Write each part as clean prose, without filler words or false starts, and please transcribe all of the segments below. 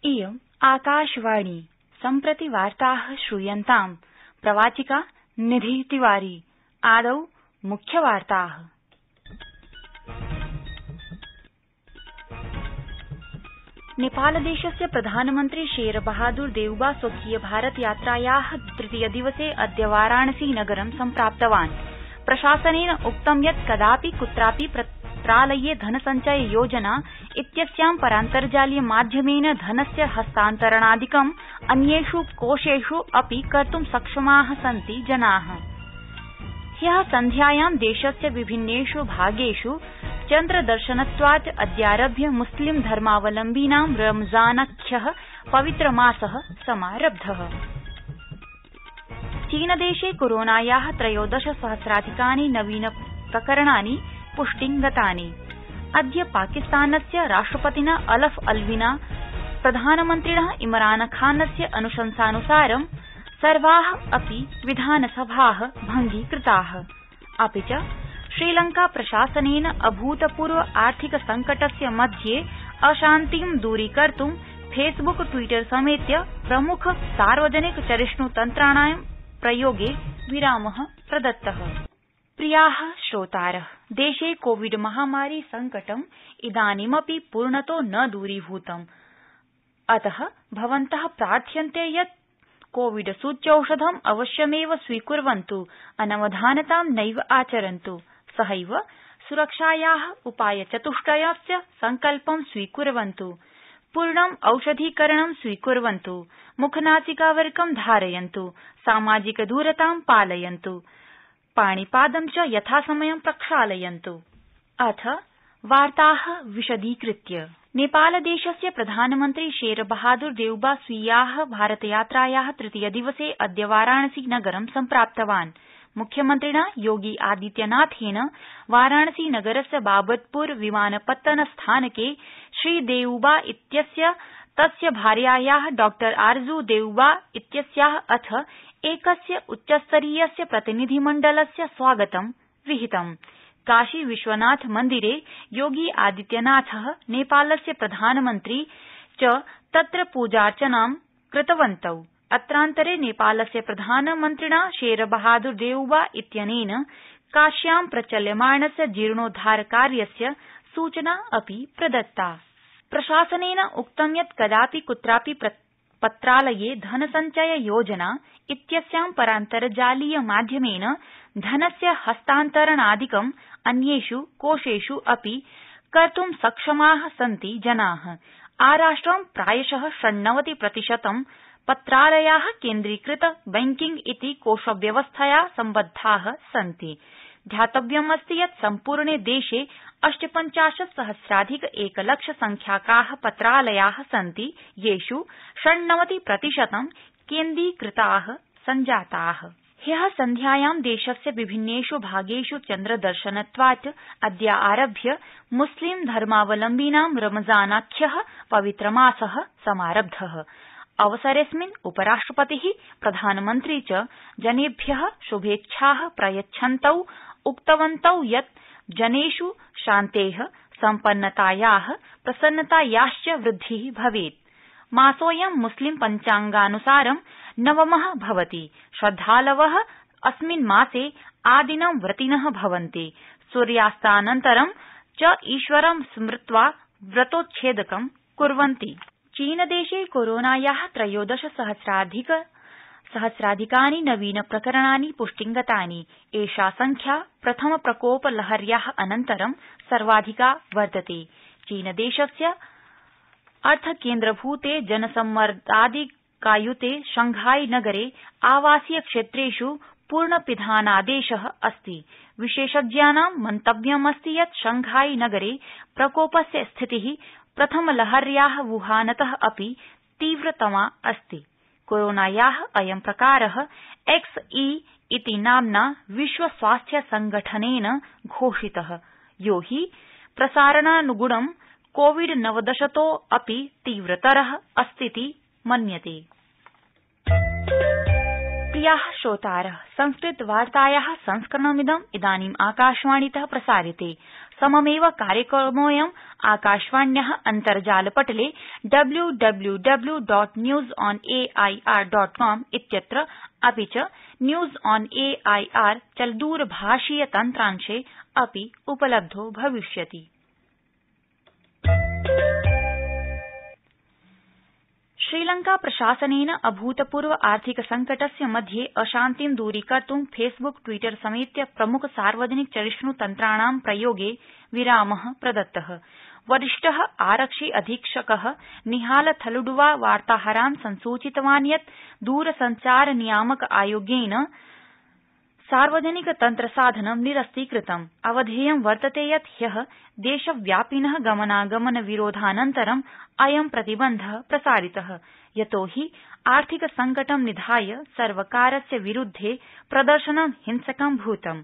इयम् आकाशवाणी सम्प्रति वार्ताः श्रूयन्ताम् प्रवाचिका निधि तिवारी। आदौ मुख्यवार्ताः। नेपालदेशस्य प्रधानमन्त्री शेर बहादुर देउबा स्वकीय भारत यात्रायाः तृतीय दिवसे अद्य वाराणसी नगरं सम्प्राप्तवान्। प्रशासनेन उक्तं यत् कदापि कुत्रापि पत्रालये धनसञ्चय योजना इत्यस्यां परान्तर्जालीय माध्यमेन धनस्य हस्तान्तरणादिकम् अन्येषु कोषेषु अपि कर्तुं सक्षमाः सन्ति जनाः। ह्यः सन्ध्यायां देशस्य विभिन्नेषु भागेषु चन्द्रदर्शनत्वात् अद्यारभ्य मुस्लिम धर्मावलम्बिनां रमजानाख्यः पवित्रमासः समारब्धः। चीनदेशे कोरोनायाः 13 सहस्राधिकानि नवीन प्रकरणानि पुष्टिं गतानि। अद्य पाकिस्तानस्य राष्ट्रपतिना अलफ अलविना प्रधानमन्त्रिणः इमरान खानस्य अनुशंसानुसारं सर्वाः अपि विधानसभाः भंगीकृताः। अपि च श्रीलंका प्रशासनेन अभूतपूर्व आर्थिक संकटस्य मध्ये अशान्तिं दूरीकर्तुं फेसबुक ट्विटर समेत्य प्रमुख सार्वजनिक चरिष्णुतन्त्राणां प्रयोगे विरामः प्रदत्तः। प्रियाः श्रोतारः, देशे कोविड महामारी संकटम् इदानीमपि पूर्णतो न दूरीभूतम्। अतः भवन्तः प्रार्थ्यन्ते यत् कोविड सूच्यौषधम् अवश्यमेव स्वीकुर्वन्तु, अनवधानतां नैव आचरन्तु, सहैव सुरक्षायाः उपायचतुष्टयस्य सङ्कल्पं स्वीकुर्वन्तु, पूर्णम् औषधीकरणं स्वीकुर्वन्तु, मुखनासिकावरकं धारयन्तु, सामाजिकदूरतां पालयन्तु, पाणिपादं च यथासमयं प्रक्षालयन्तु। अथ वार्ताः विशदीकृत्य। नेपालदेशस्य प्रधानमन्त्री शेर बहादुर देउबा स्वीयाः भारतयात्रायाः तृतीय दिवसे अद्य वाराणसी नगरं सम्प्राप्तवान्। मुख्यमन्त्रिणा योगी आदित्यनाथेन वाराणसी नगरस्य बाबतपुर विमानपत्तन स्थानके श्रीदेउबा इत्यस्य तस्य भार्यायाः डॉ आरजू देउबा इत्यस्याः अथ एकस्य उच्चस्तरीयस्य प्रतिनिधिमण्डलस्य स्वागतं विहितम्। काशी विश्वनाथ मन्दिरे योगी आदित्यनाथः नेपालस्य प्रधानमन्त्री च तत्र पूजार्चनां कृतवन्तौ। अत्रान्तरे नेपालस्य प्रधानमन्त्रिणा शेर बहादुर देउबा इत्यनेन काश्यां प्रचल्यमाणस्य जीर्णोद्धारकार्यस्य सूचना अपि प्रदत्ता। प्रशासनेन उक्तं यत् कदापि कुत्रापि पत्रालये धनसञ्चय योजना इत्यस्यां परान्तर्जालीय माध्यमेन धनस्य हस्तान्तरणादिकम् अन्येषु कोषेषु अपि कर्तुं सक्षमाः सन्ति जनाः। आराष्ट्रं प्रायशः 96% पत्रालयाः केन्द्रीकृत बैंकिंग इति कोषव्यवस्थया सम्बद्धाः सन्ति। ध्यातव्यमस्ति यत् सम्पूर्णे देशे 58,000,000 एकलक्षसंख्याकाः पत्रालयाः सन्ति, येषु 96% केन्द्रीकृताः सञ्जाताः। ह्यः सन्ध्यायां देशस्य विभिन्नेषु भागेषु चन्द्रदर्शनत्वात् अद्य आरभ्य मुस्लिम धर्मावलम्बिनां रमजानाख्यः पवित्रमासः समारब्धः। अवसरेऽस्मिन् उपराष्ट्रपतिः प्रधानमन्त्री च जनेभ्यः शुभेच्छाः प्रयच्छन्तौ उक्तवन्तौ यत् जनेषु शान्तेः, सम्पन्नतायाः, प्रसन्नतायाश्च वृद्धिः भवेत्। मासोऽयं मुस्लिम पञ्चाङ्गानुसारं नवमः भवति। श्रद्धालवः अस्मिन् मासे आदिनं व्रतिनः भवन्ति। सूर्यास्तानन्तरं च ईश्वरं स्मृत्वा व्रतोच्छेदकं कुर्वन्ति। चीनदेशे कोरोनायाः 13 सहस्राधिकानि नवीन प्रकरणानि पुष्टिं गतानि। एषा संख्या प्रथम प्रकोप लहर्याः अनन्तरं सर्वाधिका वर्तते। चीनदेशस्य अर्थकेन्द्रभूते जनसम्मर्दादिकायुते शंघाई नगरे आवासीय क्षेत्रेषु पूर्णपिधानादेशः अस्ति। विशेषज्ञानां मन्तव्यमस्ति यत् शंघाई नगरे प्रकोपस्य स्थितिः प्रथमलहर्याः वुहानतः अपि तीव्रतमा अस्ति। कोरोनायाः अयं प्रकारः XE इति नाम्ना विश्व स्वास्थ्य संघटनेन घोषितः, यो हि प्रसारणानुगुणं कोविड-19 अपि तीव्रतरः अस्तीति मन्यते। प्रियाः श्रोतारः, संस्कृतवार्तायाः संस्करणमिदं इदानीम् आकाशवाणीतः प्रसार्यते। सममेव कार्यक्रमोऽयम् आकाशवाण्याः अन्तर्जालपटले www.newsonair.com इत्यत्र अपि च न्यूज ऑन एआईआर चलदूरभाषीय तन्त्रांशे अपि उपलब्धो भविष्यति। श्रीलंका प्रशासनेन अभूतपूर्व आर्थिक संकटस्य मध्ये अशान्तिं दूरीकर्तुं फेसबुक ट्विटर समेत्य प्रमुख सार्वजनिक चरिष्णु तन्त्राणां प्रयोगे विरामः प्रदत्तः। वरिष्ठः आरक्षि अधीक्षकः निहाल थलुडुवा वार्ताहरान् संसूचितवान् यत् दूरसञ्चार नियामक आयोगेन सार्वजनिक तन्त्रसाधनं निरस्तीकृतम्। अवधेयं वर्तते यत् ह्यः देशव्यापिनः गमनागमन विरोधानन्तरम् अयं प्रतिबन्धः प्रसारितः, यतो हि आर्थिक संकटं निधाय सर्वकारस्य विरुद्धे प्रदर्शनं हिंसकं भूतम्।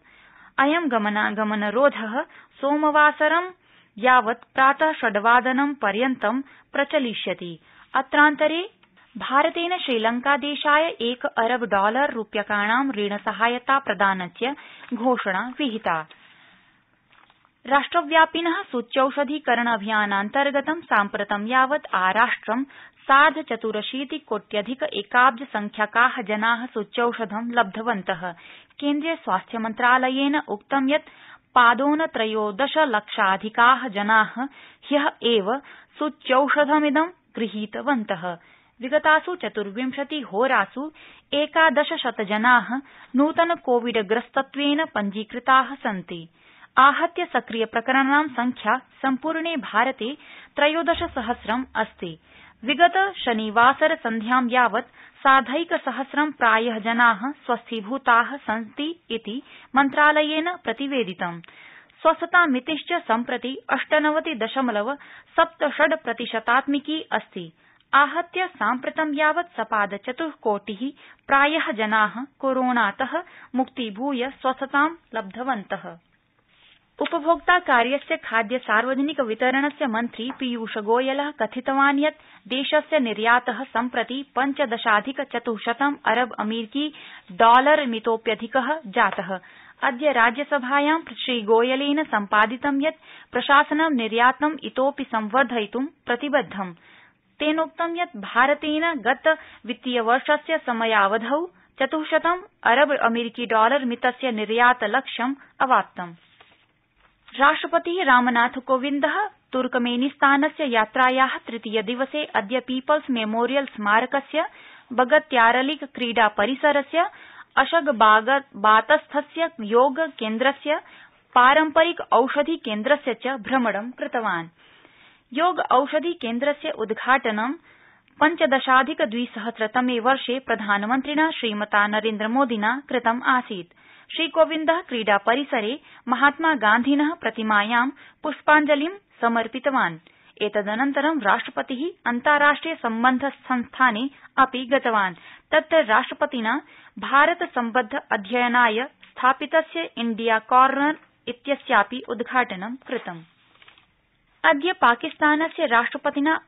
अयं गमनागमनरोधः सोमवासरं यावत् प्रातः 6 वादनं पर्यन्तं प्रचलिष्यति। अत्रान्तरे भारतेन श्रीलंकादेशाय $1 अरब रूप्यकाणां ऋणसहायता प्रदानस्य घोषणा विहिता। राष्ट्रव्यापिनः सूच्यौषधीकरण अभियानान्तर्गतं साम्प्रतं यावत् आराष्ट्रं 84 कोट्यधिक एकाब्ज संख्याकाः जनाः सूच्यौषधं लब्धवन्तः। केन्द्रीय स्वास्थ्य मन्त्रालयेन उक्तं यत् पादोनत्रयोदश लक्षाधिकाः जनाः ह्यः एव सूच्यौषधमिदं गृहीतवन्तः। विगतासु 24 होरासु 1100 जनाः नूतन कोविडग्रस्तत्वेन पञ्जीकृताः सन्ति। आहत्य सक्रिय प्रकरणानां संख्या सम्पूर्णे भारते 13,000 अस्ति। विगत शनिवासर सन्ध्यां यावत् 1,000 प्रायः जनाः स्वस्थीभूताः सन्ति इति मन्त्रालयेन प्रतिवेदितम्। स्वस्थतामितिश्च सम्प्रति 98.76% अस्ति। आहत्य साम्प्रतं यावत् सपाद-4 प्रायः जनाः कोरोनातः मुक्तीभूय स्वस्थतां लब्धवन्तः। उपभोक्ता कार्यस्य खाद्य सार्वजनिक वितरणस्य मन्त्री पीयूष गोयलः कथितवान् यत् देशस्य निर्यातः सम्प्रति 15,400 अरब अमेरिकी $मितोप्यधिकः जातः। अद्य राज्यसभायां श्रीगोयलेन सम्पादितं यत् प्रशासनं निर्यातम् इतोऽपि संवर्धयितुं प्रतिबद्धम्। तेनोक्तं यत् भारतेन गत वित्तीयवर्षस्य समयावधौ 400 अरब अमेरिकी $मितस्य निर्यातलक्ष्यम् अवाप्तम्। राष्ट्रपतिः रामनाथ कोविन्दः तुर्कमेनिस्तानस्य यात्रायाः तृतीय दिवसे अद्य पीपल्स मेमोरियल स्मारकस्य बगत्यारलिक क्रीडा परिसरस्य अशगबातस्थस्य योग केन्द्रस्य पारम्परिक औषधि केन्द्रस्य च भ्रमणं कृतवान्। योग औषधि केन्द्रस्य उद्घाटनं 15,200 वर्षे प्रधानमन्त्रिणा श्रीमता नरेन्द्रमोदिना कृतम् आसीत्। श्रीकोविन्दः क्रीडा परिसरे महात्मा गान्धिनः प्रतिमायां पुष्पाञ्जलिं समर्पितवान्। एतदनन्तरं राष्ट्रपतिः अन्ताराष्ट्रिय सम्बन्ध संस्थाने अपि गतवान्। तत्र राष्ट्रपतिना भारत सम्बद्ध अध्ययनाय स्थापितस्य इंडिया कॉर्नर इत्यस्यापि उद्घाटनं कृतम्। अद्य पाकिस्तानस्य राष्ट्रपतिना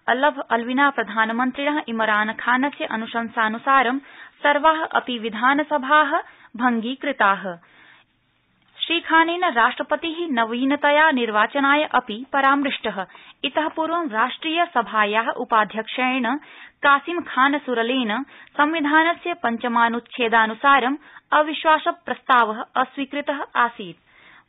अलविना प्रधानमन्त्रिणः इमरान खानस्य अनुशंसानुसारं सर्वाः अपि विधानसभाः भंगीकृताः। श्रीखानेन राष्ट्रपतिः नवीनतया निर्वाचनाय अपि परामृष्टः। इतः पूर्वं राष्ट्रिय सभायाः उपाध्यक्षेण कासिम खान सुरलेन संविधानस्य 5मानुच्छेदानुसारं अविश्वास प्रस्तावः अस्वीकृतः आसीत्।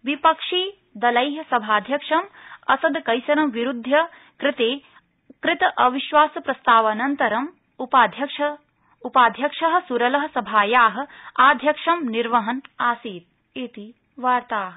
विपक्षी दलैः सभाध्यक्षं असद कैसरं विरुध्य कृत अविश्वास प्रस्तावानन्तरं उपाध्यक्षः सुरलः सभायाः आध्यक्ष्यं निर्वहन् आसीत् इति वार्ताः।